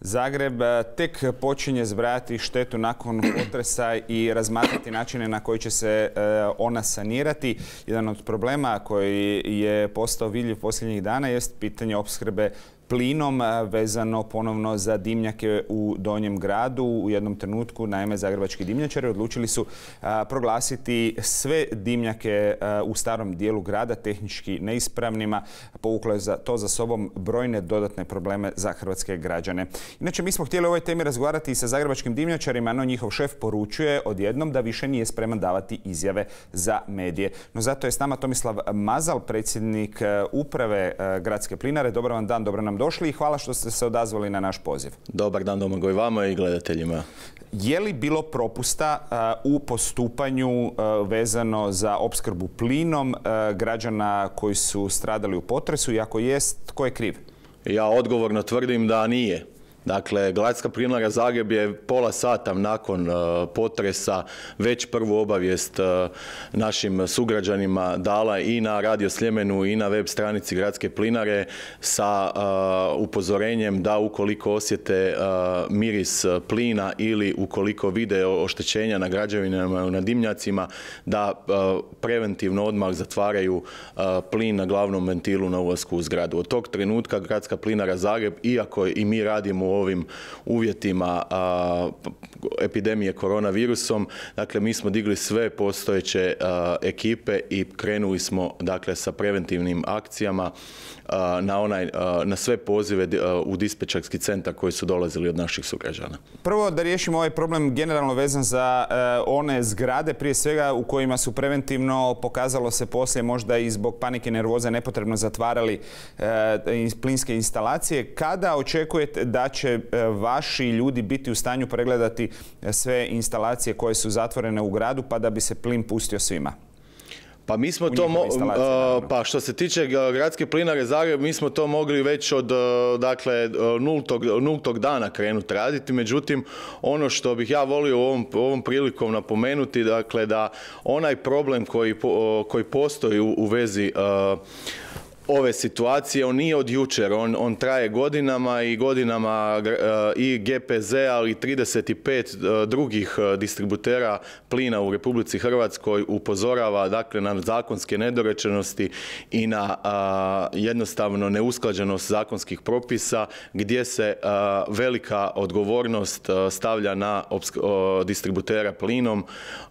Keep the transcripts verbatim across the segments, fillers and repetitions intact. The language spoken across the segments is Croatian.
Zagreb tek počinje zbrajati štetu nakon potresa i razmatrati načine na koji će se ona sanirati. Jedan od problema koji je postao vidljiv posljednjih dana jest pitanje opskrbe plinom vezano ponovno za dimnjake u Donjem gradu. U jednom trenutku, naime, zagrebački dimnjačari odlučili su a, proglasiti sve dimnjake a, u starom dijelu grada tehnički neispravnima. Povuklo je za to za sobom brojne dodatne probleme za hrvatske građane. Inače, mi smo htjeli o ovoj temi razgovarati i sa zagrebačkim dimnjačarima, no njihov šef poručuje odjednom da više nije spreman davati izjave za medije. No zato je s nama Tomislav Mazal, predsjednik uprave Gradske plinare. Dobar vam dan, dobro nam došli i hvala što ste se odazvali na naš poziv. Dobar dan, Domagoj, vama i gledateljima. Je li bilo propusta uh, u postupanju uh, vezano za opskrbu plinom uh, građana koji su stradali u potresu i ako jest, tko je kriv? Ja odgovorno tvrdim da nije. Dakle, Gradska plinara Zagreb je pola sata nakon uh, potresa već prvu obavijest uh, našim sugrađanima dala i na Radio Sljemenu i na web stranici Gradske plinare sa uh, upozorenjem da ukoliko osjete uh, miris plina ili ukoliko vide oštećenja na građevinama, na dimnjacima, da uh, preventivno odmah zatvaraju uh, plin na glavnom ventilu na ulasku u zgradu. Od tog trenutka Gradska plinara Zagreb, iako i mi radimo u ovim uvjetima a, epidemije koronavirusom, dakle mi smo digli sve postojeće a, ekipe i krenuli smo dakle sa preventivnim akcijama a, na onaj a, na sve pozive a, u dispečerski centar koji su dolazili od naših sugrađana. Prvo da riješimo ovaj problem generalno vezan za a, one zgrade prije svega u kojima su preventivno, pokazalo se poslije možda i zbog panike i nervoze, nepotrebno zatvarali a, plinske instalacije. Kada očekujete da će vaši ljudi biti u stanju pregledati sve instalacije koje su zatvorene u gradu pa da bi se plin pustio svima? Pa mi smo to, mo pa što se tiče Gradske plinare Zagreb, mi smo to mogli već od dakle nultog, nultog dana krenuti raditi. Međutim, ono što bih ja volio ovom, ovom prilikom napomenuti, dakle da onaj problem koji, koji postoji u, u vezi uh, ove situacije, on nije od jučer, on, on traje godinama i godinama uh, i G P Z, ali i trideset pet uh, drugih uh, distributera plina u Republici Hrvatskoj upozorava dakle na zakonske nedorečenosti i na uh, jednostavno neusklađenost zakonskih propisa gdje se uh, velika odgovornost uh, stavlja na uh, distributera plinom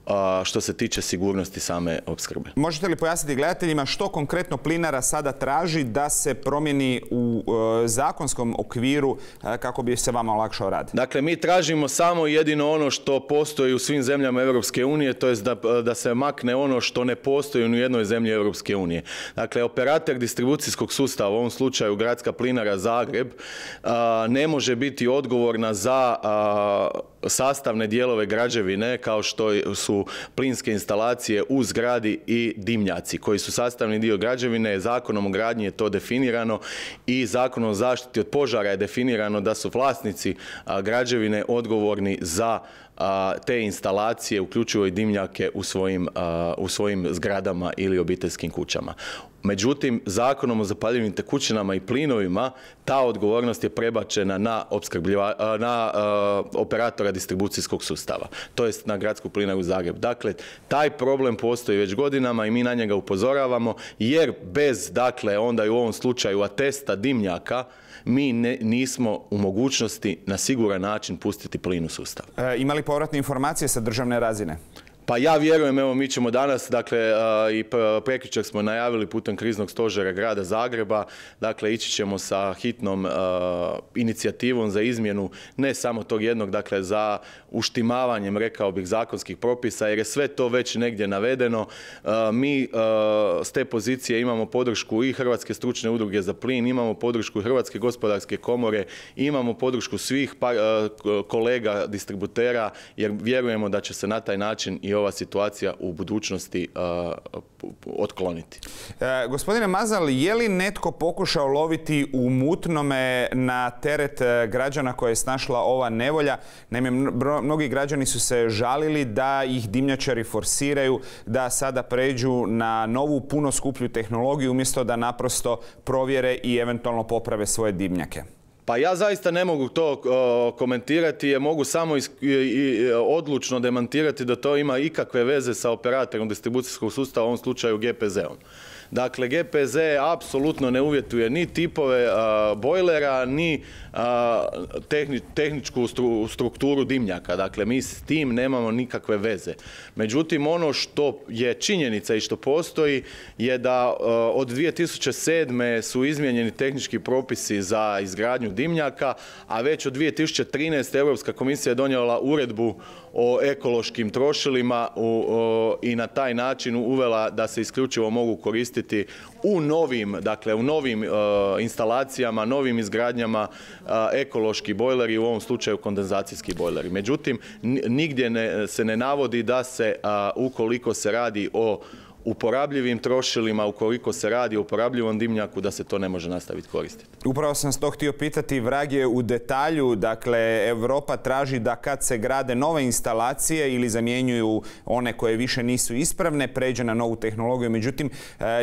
uh, što se tiče sigurnosti same opskrbe. Možete li pojasniti gledateljima što konkretno plinara sada traži da se promijeni u uh, zakonskom okviru uh, kako bi se vama olakšao rad? Dakle, mi tražimo samo jedino ono što postoji u svim zemljama Europske unije, to je da, da se makne ono što ne postoji u jednoj zemlji Europske unije. Dakle, operator distribucijskog sustava, u ovom slučaju Gradska plinara Zagreb, uh, ne može biti odgovorna za uh, sastavne dijelove građevine kao što su plinske instalacije u zgradi i dimnjaci koji su sastavni dio građevine. Zakonom o gradnji je to definirano i Zakonom o zaštiti od požara je definirano da su vlasnici a, građevine odgovorni za a, te instalacije, uključivo i dimnjake u svojim, a, u svojim zgradama ili obiteljskim kućama. Međutim, Zakonom o zapaljivim tekućinama i plinovima ta odgovornost je prebačena na, na uh, operatora distribucijskog sustava, to jest na Gradsku plinaru Zagreb. Dakle, taj problem postoji već godinama i mi na njega upozoravamo, jer bez, dakle, onda i u ovom slučaju atesta dimnjaka, mi ne, nismo u mogućnosti na siguran način pustiti plin u sustav. E, ima li povratne informacije sa državne razine? Pa ja vjerujem, evo mi ćemo danas, dakle i prekjučer smo najavili putem kriznog stožera grada Zagreba, dakle ići ćemo sa hitnom uh, inicijativom za izmjenu ne samo tog jednog, dakle za uštimavanjem, rekao bih, zakonskih propisa, jer je sve to već negdje navedeno. Uh, mi uh, s te pozicije imamo podršku i Hrvatske stručne udruge za plin, imamo podršku Hrvatske gospodarske komore, imamo podršku svih pa, uh, kolega distributera, jer vjerujemo da će se na taj način i ova situacija u budućnosti uh, otkloniti. E, gospodine Mazal, je li netko pokušao loviti u mutnome na teret građana koje je snašla ova nevolja? Naime, mnogi građani su se žalili da ih dimnjačari forsiraju da sada pređu na novu, puno skuplju tehnologiju umjesto da naprosto provjere i eventualno poprave svoje dimnjake. Pa ja zaista ne mogu to uh, komentirati, jer mogu samo is, i, i, odlučno demantirati da to ima ikakve veze sa operatorom distribucijskog sustava, u ovom slučaju G P Z-om. Dakle, G P Z apsolutno ne uvjetuje ni tipove uh, bojlera, ni uh, tehni, tehničku stru, strukturu dimnjaka. Dakle, mi s tim nemamo nikakve veze. Međutim, ono što je činjenica i što postoji je da uh, od dvije tisuće sedme su izmijenjeni tehnički propisi za izgradnju dimnjaka, a već od dvije tisuće trinaeste. Europska komisija je donijela uredbu o ekološkim trošilima u, o, i na taj način uvela da se isključivo mogu koristiti u novim, dakle u novim uh, instalacijama, novim izgradnjama uh, ekološki bojleri, u ovom slučaju kondenzacijski bojleri. Međutim, nigdje ne, se ne navodi da se, uh, ukoliko se radi o uporabljivim trošilima, ukoliko se radi o uporabljivom dimnjaku, da se to ne može nastaviti koristiti. Upravo sam s to htio pitati, vrag je u detalju. Dakle, Europa traži da kad se grade nove instalacije ili zamjenjuju one koje više nisu ispravne, pređe na novu tehnologiju. Međutim,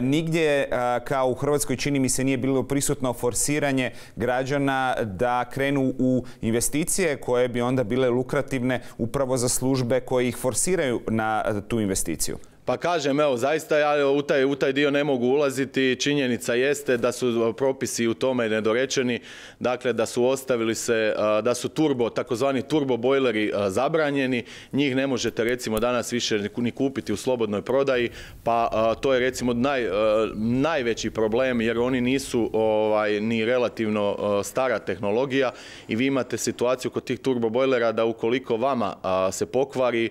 nigdje kao u Hrvatskoj čini mi se nije bilo prisutno forsiranje građana da krenu u investicije koje bi onda bile lukrativne upravo za službe koje ih forsiraju na tu investiciju. Pa kažem, evo, zaista ja u taj, u taj dio ne mogu ulaziti. Činjenica jeste da su propisi u tome nedorečeni, dakle da su ostavili se, da su turbo, takozvani turbo bojleri zabranjeni. Njih ne možete recimo danas više ni kupiti u slobodnoj prodaji, pa to je recimo naj, najveći problem, jer oni nisu ovaj, ni relativno stara tehnologija i vi imate situaciju kod tih turbo bojlera da ukoliko vama se pokvari,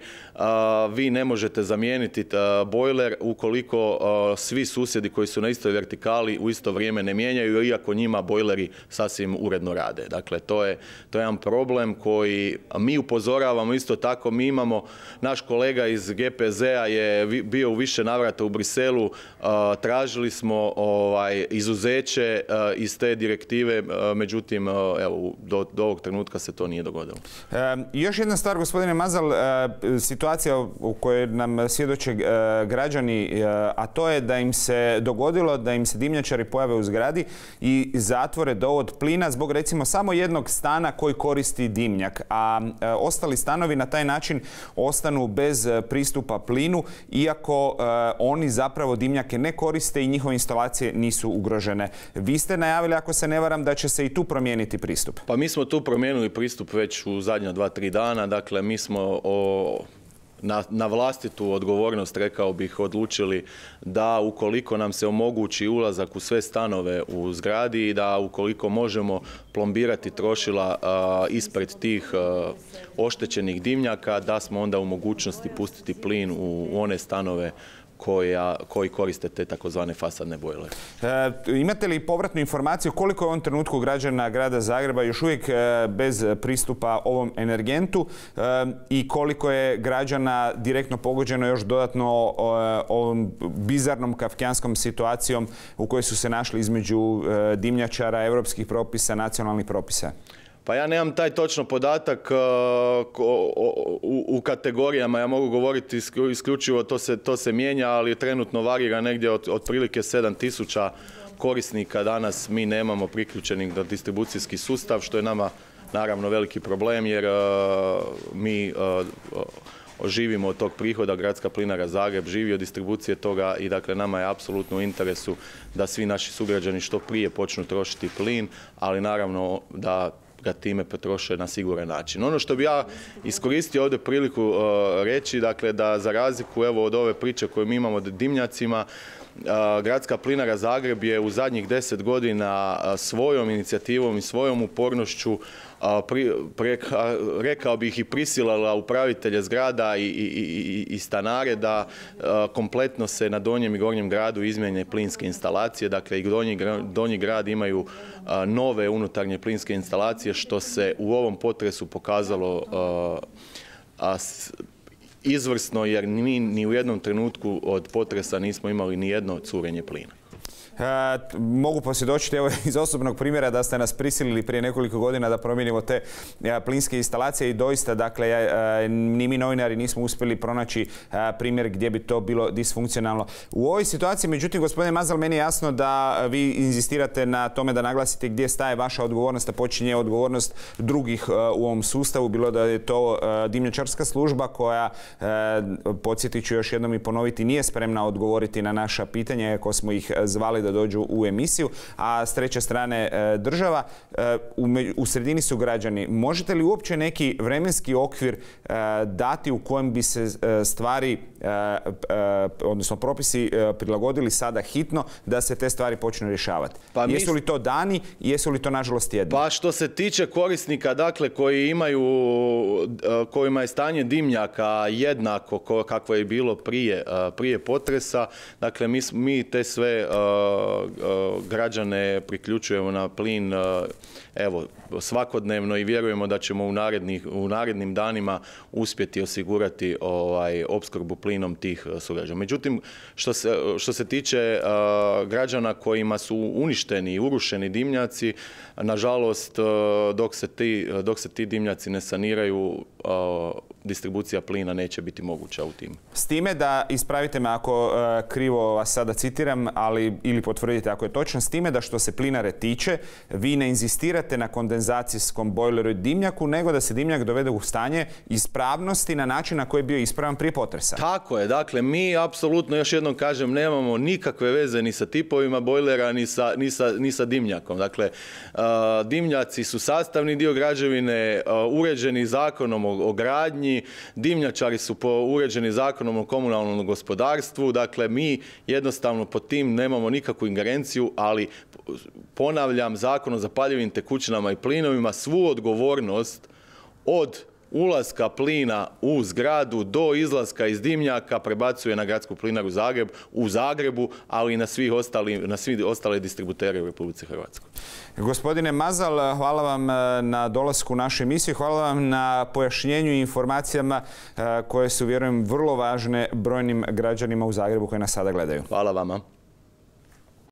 vi ne možete zamijeniti bojler ukoliko uh, svi susjedi koji su na istoj vertikali u isto vrijeme ne mijenjaju, iako njima bojleri sasvim uredno rade. Dakle, to je, to je jedan problem koji mi upozoravamo. Isto tako, mi imamo, naš kolega iz G P Z-a je vi, bio u više navrata u Briselu, uh, tražili smo ovaj, izuzeće uh, iz te direktive, uh, međutim, uh, evo, do, do ovog trenutka se to nije dogodilo. E, još jedna stvar, gospodine Mazal, uh, situacija u kojoj nam svjedoče građani, a to je da im se dogodilo da im se dimnjačari pojave u zgradi i zatvore dovod plina zbog recimo samo jednog stana koji koristi dimnjak, a ostali stanovi na taj način ostanu bez pristupa plinu, iako oni zapravo dimnjake ne koriste i njihove instalacije nisu ugrožene. Vi ste najavili, ako se ne varam, da će se i tu promijeniti pristup. Pa mi smo tu promijenili pristup već u zadnja dva, tri dana. Dakle, mi smo o Na, na vlastitu odgovornost, rekao bih, odlučili da ukoliko nam se omogući ulazak u sve stanove u zgradi i da ukoliko možemo plombirati trošila a, ispred tih a, oštećenih dimnjaka, da smo onda u mogućnosti pustiti plin u, u one stanove Koja, koji koriste te takozvane fasadne bojlere. E, imate li povratnu informaciju koliko je u ovom trenutku građana grada Zagreba još uvijek e, bez pristupa ovom energentu e, i koliko je građana direktno pogođeno još dodatno o, ovom bizarnom kafkijanskom situacijom u kojoj su se našli između e, dimnjačara, europskih propisa, nacionalnih propisa? Pa ja nemam taj točno podatak uh, u, u kategorijama, ja mogu govoriti isključivo, to se, to se mijenja, ali trenutno varira negdje od otprilike sedam tisuća korisnika. Danas mi nemamo priključenih na distribucijski sustav, što je nama naravno veliki problem, jer uh, mi uh, živimo od tog prihoda, Gradska plinara Zagreb živi od distribucije toga i dakle nama je apsolutno u interesu da svi naši sugrađani što prije počnu trošiti plin, ali naravno da ga time potroše na siguran način. Ono što bi ja iskoristio ovdje priliku uh, reći, dakle da za razliku evo od ove priče koju mi imamo o dimnjacima, uh, Gradska plinara Zagreb je u zadnjih deset godina uh, svojom inicijativom i svojom upornošću Pri, pre, rekao bih i prisilala upravitelje zgrada i, i, i, i stanare da a, kompletno se na Donjem i Gornjem gradu izmijene plinske instalacije. Dakle, i Donji, Donji grad imaju a, nove unutarnje plinske instalacije, što se u ovom potresu pokazalo a, a, s, izvrsno, jer mi ni u jednom trenutku od potresa nismo imali ni jedno curenje plina. Mogu posvjedočiti evo, iz osobnog primjera da ste nas prisilili prije nekoliko godina da promijenimo te plinske instalacije i doista, dakle, ni mi novinari nismo uspjeli pronaći primjer gdje bi to bilo disfunkcionalno. U ovoj situaciji, međutim, gospodine Mazal, meni je jasno da vi inzistirate na tome da naglasite gdje staje vaša odgovornost, a počinje odgovornost drugih u ovom sustavu, bilo da je to dimnjačarska služba koja, podsjetit ću još jednom i ponoviti, nije spremna odgovoriti na naša pitanja ako smo ih zvali da dođu u emisiju, a s treće strane država. U sredini su građani. Možete li uopće neki vremenski okvir dati u kojem bi se stvari, odnosno propisi prilagodili sada hitno da se te stvari počnu rješavati? Pa mi... Jesu li to dani i jesu li to nažalost tjedni? Pa što se tiče korisnika, dakle, koji imaju, kojima je stanje dimnjaka jednako kakvo je bilo prije, prije potresa, dakle, mi, mi te sve građane priključujemo na plin evo, svakodnevno i vjerujemo da ćemo u, narednih, u narednim danima uspjeti osigurati ovaj, opskrbu plinom tih sugrađana. Međutim, što se, što se tiče uh, građana kojima su uništeni i urušeni dimnjaci, nažalost, uh, dok se ti, dok se ti dimnjaci ne saniraju, uh, distribucija plina neće biti moguća u tim. S time da, ispravite me ako uh, krivo vas sada citiram, ali ili potvrdite ako je točno, s time da što se plinare tiče, vi ne inzistirate na kondenzacijskom bojleru i dimnjaku, nego da se dimnjak dovede u stanje ispravnosti na način na koji je bio ispravan prije potresa. Tako je. Dakle, mi apsolutno, još jednom kažem, nemamo nikakve veze ni sa tipovima bojlera, ni sa, ni sa, ni sa dimnjakom. Dakle, uh, dimnjaci su sastavni dio građevine, uh, uređeni zakonom o, o gradnji, dimnjačari su po uređeni zakonom o komunalnom gospodarstvu. Dakle, mi jednostavno pod tim nemamo nikakvu ingerenciju, ali ponavljam, Zakon o zapaljivim tekućinama i plinovima svu odgovornost od ulaska plina u zgradu do izlaska iz dimnjaka prebacuje na Gradsku plinaru Zagreb u Zagrebu, ali i na svi ostali, na svi ostale distributere u Republici Hrvatskoj. Gospodine Mazal, hvala vam na dolasku u našu emisiju, hvala vam na pojašnjenju i informacijama koje su, vjerujem, vrlo važne brojnim građanima u Zagrebu koji nas sada gledaju. Hvala vama.